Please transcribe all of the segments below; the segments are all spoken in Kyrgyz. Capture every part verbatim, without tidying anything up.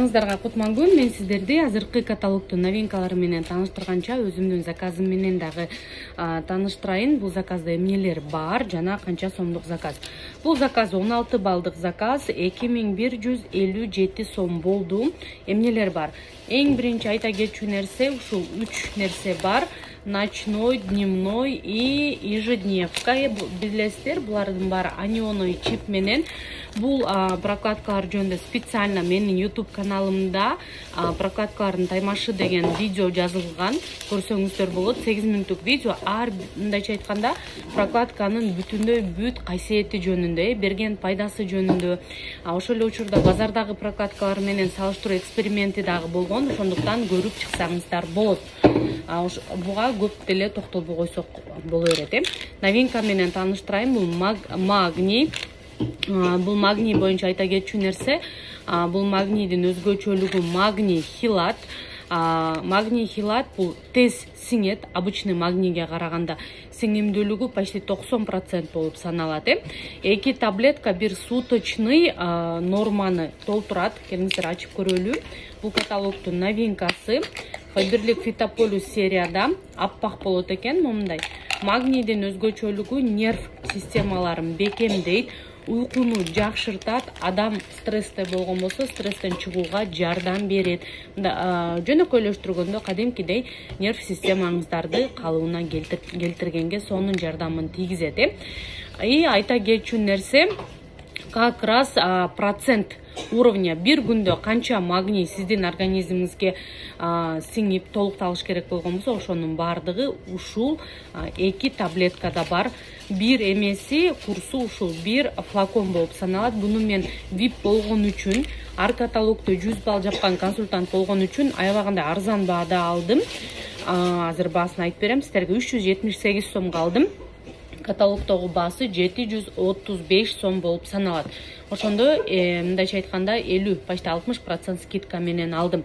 Баарыңыздарга кутман күн. Мен сиздерди азыркы каталогдун новинкалары менен тааныштырганча өзүмдүн заказым менен дагы тааныштырайын. Бул заказда эмнелер бар жана канча сомдук заказ. Бул заказ он алты балдык заказ, эки миң бир жүз элүү жети сом болду. Эмнелер бар? Эң биринчи айта кетчү нерсе ушул үч нерсе бар. Ночной, дневной и ежедневка. Билесиздер, булардын баары анионный чип менен. Бул прокладкалар жөнүндө специально менин YouTube каналымда прокладкалардын таймашы деген видео жазылган. Көрсөңүздөр болот. сегиз мүнөттүк видео. Ар мындайча айтканда прокладканын бүтүндөй бүт кайсети жөнүндө, берген пайдасы жөнүндө. Ошол эле учурда базардагы прокладкалар менен салыштыруу эксперименти дагы болгон. Ошондуктан көрүп чыксаңыздар болот. Буга көп деле токтолбой койсок боло берет. Новинка менен тааныштырайын. Бул магний. Бул магний боюнча айта кетчү нерсе, бул магнийдин өзгөчөлүгү магний хилат. Магний хилат бул тез сиңет, обычный магнийге караганда сиңимдүүлүгү почти токсон процент болуп саналат. Эки таблетка бир суточный норманы толтурат. Келиңиздер ачып көрөлү. Бул каталогдун новинкасы. Фаберлик Фитополюс серияда аппак болот экен, момундай. Магнийдин өзгөчөлүгү нерв системаларын бекемдейт, уйкуну жакшыртат, адам стрессте болгон болсо стресстен чыгууга жардам берет. Жөнөкөйлөштүргөндө кадимкидей нерв системаңыздарды калыбына келтиргенге сонун жардамын тийгизет. И айта кетчү нерсе как раз процент уровня бир күндө канча магний сиздин организмиңизге сиңип толукталыш керек болгон болсо ошонун баардыгы ушул эки таблеткада бар. Бир эмеси курсу ушул бир флакон болуп саналат. Буну мен вип болгон үчүн, ар каталогдо жүз балл жапкан консультант болгон үчүн аябагандай арзан баада алдым. Азыр баасын айтып берем сиздерге. үч жүз жетимиш сегиз сомго алдым. Каталогдогу баасы жети жүз отуз беш сом болуп саналат. Ошондо мындайча айтканда элүү, почти алтымыш процент скидка менен алдым.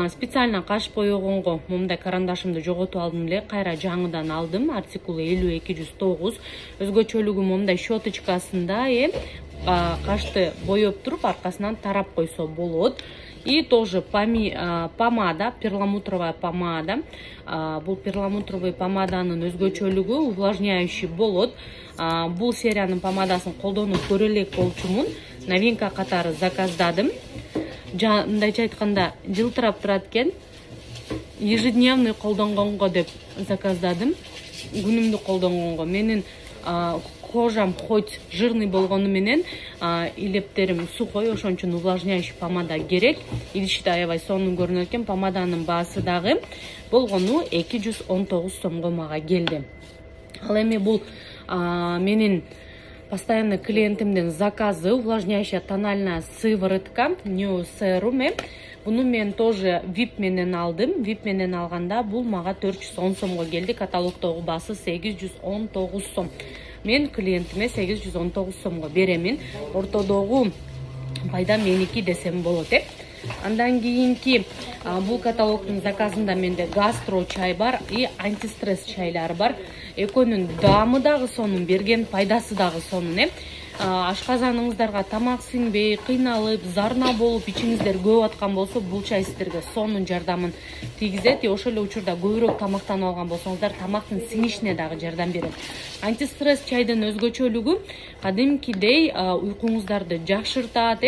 Специально каш боегонго момундай карандашымды жоготуп алдым эле, кайра жаңыдан алдым. Артикулу элүү эки жүз тогуз. Өзгөчөлүгү момундай щеточкасында кашты боеп туруп аркасынан тарап койсо болот. И тоже помада, перламутровая помада. Бул перламутровый помаданын өзгөчөлүгү увлажняющий болот. Бул сериянын помадасын колдонуп көрө элек болчумун. Новинка катары заказдадым. Мындайча айтканда жылтырап турат экен. Ежедневный колдонгонго деп заказдадым. Күнүмдүк колдонгонго. Менин кожам хоть жирный болгону менен илептерим сухой, ошон үчүн увлажняющий помада керек. Идиште аябай сонун көрүнөт экен. Помаданын баасы дагы болгону эки жүз он тогуз сомго мага келди. Ал эми бул менин постоянный клиентимдин заказы увлажняющая тональная сыворотка New Serum. Буну мен тоже вип менен алдым. вип менен алганда бул мага төрт жүз он сомго келди. Каталогдогу баасы сегиз жүз он тогуз сом. Мен клиентиме сегиз жүз он тогуз сомго беремин. Ортодогу пайда меники десем болот. Андан кийинки бул каталогдун заказында менде гастро чай бар и антистресс чайлар бар. Экөөнүн даамы дагы сонун, берген пайдасы дагы сонун. Ашказаныңыздарга тамак сиңбей, кыйналып, зарна болуп, ичиңиздер көөп аткан болсо, бул чай сиздерге сонун жардамын тийгизет. Ошол эле учурда көбүрөөк тамактанып алган болсоңуздар, тамактын сиңишине дагы жардам берет. Антистресс чайдын өзгөчөлүгү кадимкидей уйкуңуздарды жакшыртат.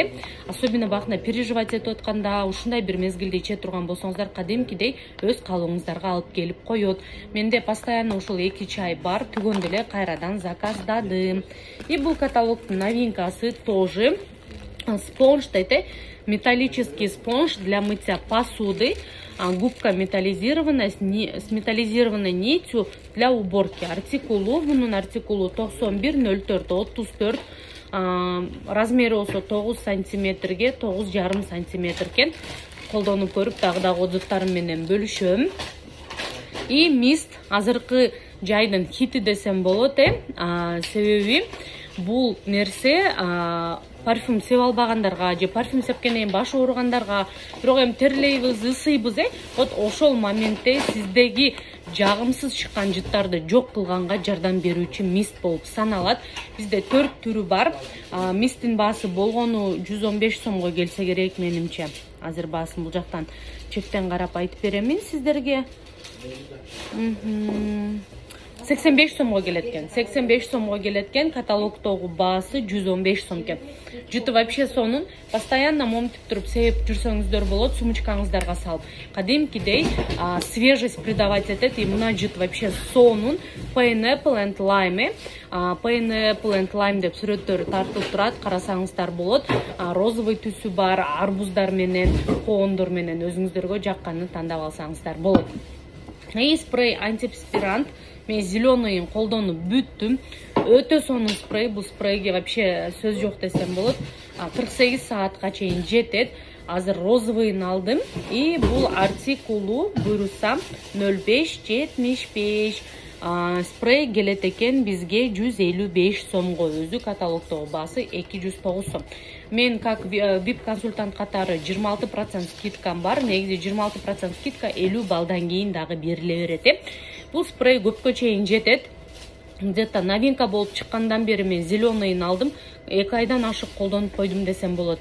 Особенно бакында переживать этип атканда, ушундай бир мезгилде иче турган болсоңуздар, кадимкидей өз калыбыңыздарга алып келип коет. Менде постоянно ушул эки чай бар. Түгөндө эле кайрадан заказдадым. И бул каталогдун новинкасы тоже спонж, металлический спонж для мытья посуды. Губка металлизированная с металлизированной нитью для уборки. Артикулу, бунун артикулу токсон бир ноль төрт отуз төрт. Размери болсо тогуз сантиметрге тогуз жарым сантиметр экен. Колдонуп көрүп дагы дагы отзывтарым менен бөлүшөм. И мист азыркы жайдын хити десем болот. Себеби бул нерсе парфюм сеп албагандарга же парфюм сепкенден кийин баш ооругандарга, бирок эми терлейбиз, ысыйбыз, вот ошол моментте сиздеги жагымсыз чыккан жыттарды жок кылганга жардам берүүчү мист болуп саналат. Бизде төрт түрү бар. Мисттин баасы болгону жүз он беш сомго келсе керек менимче. азыр баасын бул жактан чектен карап айтып беремин сиздерге. сексен беш сомго келет экен. сексен беш сомго келет экен. Каталогдогу баасы жүз он беш сом экен. Жыты вообще сонун постоянно момтип туруп сейп жүрсөңүздөр болот, сумочкаңыздарга салып. Кадимкидей свежесть придавать этет, и мына жыт вообще сонун. Pineapple and lime. Pineapple and lime деп сүрөттөрү тартылып турат, карасаңыздар болот. Розовый түсү бар, арбуздар менен, коондор менен өзүңүздөргө жакканын тандап алсаңыздар болот. И спрей антиперспирант. Мен зеленыйын колдонуп бүттүм. Өтө сонун спрей. Бул спрейге вообще сөз жок десем болот. кырк сегиз саатка чейин жетет. Азыр розовыйын алдым. И бул артикулу буйрусам ноль беш жетимиш беш. Спрей келет экен бизге жүз элүү беш сомго. Өзү каталогдогу баасы эки жүз тогуз сом. Мен как вип консультант катары жыйырма алты процент скидкам бар. Негизи жыйырма алты процент скидка элүү балдан кийин дагы бериле берет. Бул спрей көпкө чейин жетет. Где-то новинка болуп чыккандан бери мен зеленыйын алдым. эки айдан ашык колдонуп койдум десем болот.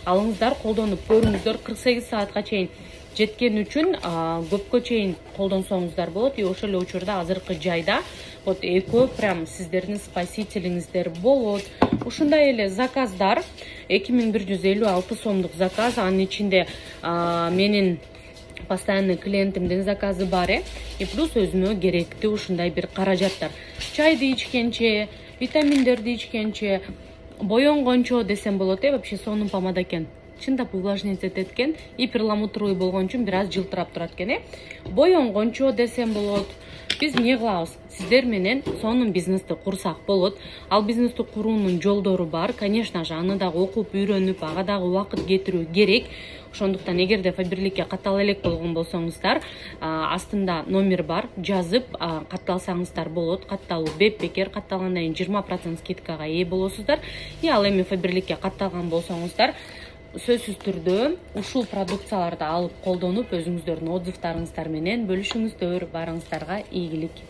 Алыңыздар, колдонуп көрүңүздөр. кырк сегиз саатка чейин жеткен үчүн көпкө чейин колдонсоңуздар болот. И ошол эле учурда азыркы жайда вот экөө прям сиздердин спасителиңиздер болот. Ушундай эле заказдар эки миң бир жүз элүү алты сомдук заказ. Анын ичинде менин постоянный клиентимдин заказы бар. И плюс өзүмө керектүү ушундай бир каражаттар. Чайды ичкенче, витаминдерди ичкенче, боенгончо десем болот. Вообще сонун помада экен. Чындап увлажнить этет экен. И перламутровый болгон үчүн бир аз жылтырап турат экен. Боенгончо десем болот. Биз эмне кылабыз? Сиздер менен сонун бизнести курсак болот. Ал бизнести куруунун жолдору бар. Конечно же, аны дагы окуп, үйрөнүп, ага дагы убакыт кетирүү керек. Ошондуктан эгерде фаберликке каттала элек болгон болсоңуздар, астында номер бар, жазып катталсаңыздар болот. Катталуу беп-бекер, катталгандан кийин жыйырма процент скидкага ээ болосуздар. И ал эми фаберликке катталган болсоңуздар, сөзсүз түрдө ушул продукцияларды алып колдонуп, өзүңүздөрдүн отзывдарыңыздар менен бөлүшүңүздөр. Барыңыздарга ийгилик.